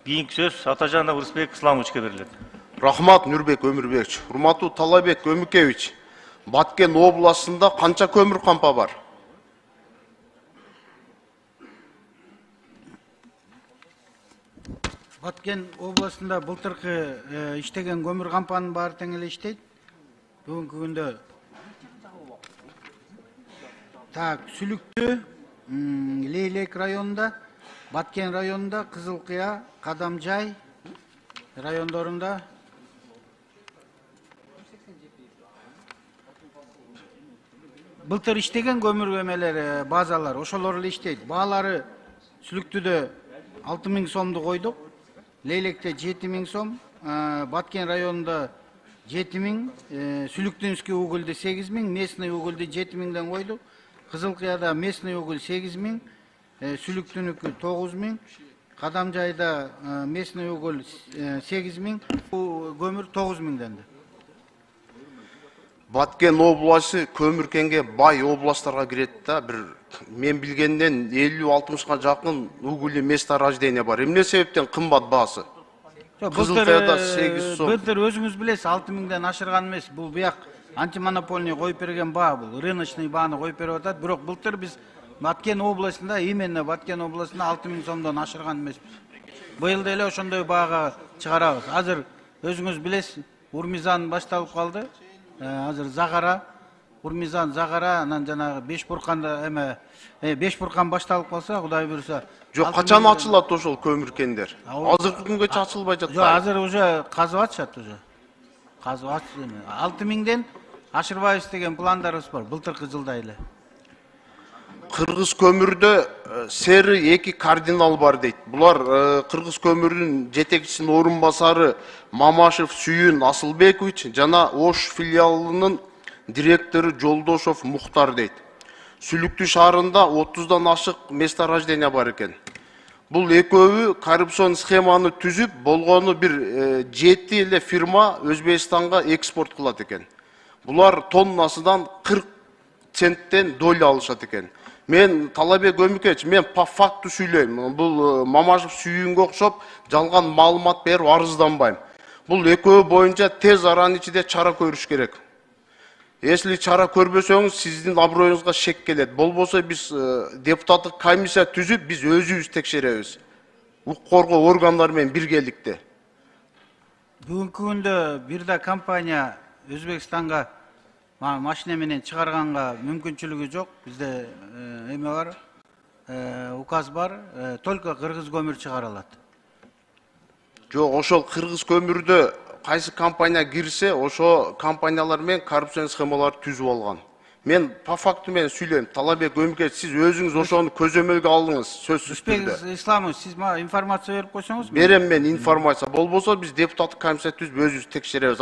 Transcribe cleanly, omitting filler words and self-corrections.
Кийинки сөз Атажанов Рысбек Исламовичке берилет. Рахмат Нурбек Өмүрбекович. Урматтуу Талабек Өмүкевич, Баткен областында канча көмүр кампа бар? Баткен областында былтыркы иштеген көмүр кампанын баары тең эле иштейт. Бүгүнкү күндө Сүлүктүү, Лейлек районунда, Баткен районунда, Кызылкыя, Кадамжай райондорунда былтыр иштеген көмүр эмелери, базалар ошолор эле иштейт. Баалары Сүлүктүүдө 6000 сомду койдук, Лейлекте 7000 сом, Баткен районунда 7000, Сүлүктүүнүскү угулду 8000, местный угулду 7000ден койдук. Кызылкыяда местный угул 8000, Сүлүктүүнүкү 9000, Кадамжайда местный угул 8000, көмүр 9000ден. Баткен областы көмүркенге бай областтарга кирет да, мен билгенден 50-60га жакын угуль месторождение бар. Эмне себептен кымбат баасы? Кызылкыяда 8 сом. Былтыр өзүңүз билесиз, 6000ден ашырган эмес. Бул буяк антимонопольный коюп берген баа, бул рыночный бааны коюп берип атат. Бирок былтыр биз Баткен областында, именно Баткен областында 6000 сомдон ашырган эмеспиз. Быйыл деле ошондой баага чыгарабыз. Азыр өзүңүз билесиз, Урмизан башталып калды. Азыр Загара, Урмизан, Загара, анан жанагы Бешбурканда Бешбуркан башталып калса, Кудай буйруса. Жок, качан ачылат ошол көмүркендер? Азыркы күнгөчө ачылбай жатат. Жок, азыр уже казып атышат уже. Казып атышат. 6000ден ашырбайбыз деген пландарыбыз бар, былтыркы жылда эле. Кыргыз көмүрдө сери 2 кардинал бар дейт. Булар Кыргыз көмүрүнүн жетекчисинин орун басары Мамашев Сүйүн Асылбекович жана Ош филиалынын директору Жолдошов Мухтар дейт. Сүлүктүү шаарында 30дан ашык месторождение бар экен. Бул экөөбү коррупцион схеманы түзүп, болгону бир 7 эле фирма Өзбекстанга экспорт кылат экен. Булар тоннасынан 40 центтен доля алышат экен. Мен Талабек Өмүкевич, мен по факту сүйлөйм. Бул Мамашев Сүйүнгө окшоп жалган маалымат берип арызданбайм. Бул экөө боюнча тез аранын ичинде чара көрүш керек. Если чара көрбөсөңүз, сиздин аброюңузга шек келет. Болбосо биз депутаттык комиссия түзүп, биз өзүбүз текшеребиз. Укук коргоо органдары менен биргеликте. Бүгүнкү күндө бир да компания Өзбекстанга машина менен чыгарганга мүмкүнчүлүгү жок. Бизде эме бар, указ бар, только кыргыз көмүр чыгара алат. Жок, ошол кыргыз көмүрдө кайсы компания кирсе, ошо компаниялар менен коррупцион схемалар түзүп алган. Мен по факту менен сүйлөйм. Талабек Өмүкевич, сиз өзүңүз ошону көзөмөлгө алдыңыз, сөзсүз түрдө. Рысбек Исламович, сиз мага информация берип койсоңуз. Берем мен информация. Болбосо биз депутаттык комиссия түзүп өзүбүз текшеребиз.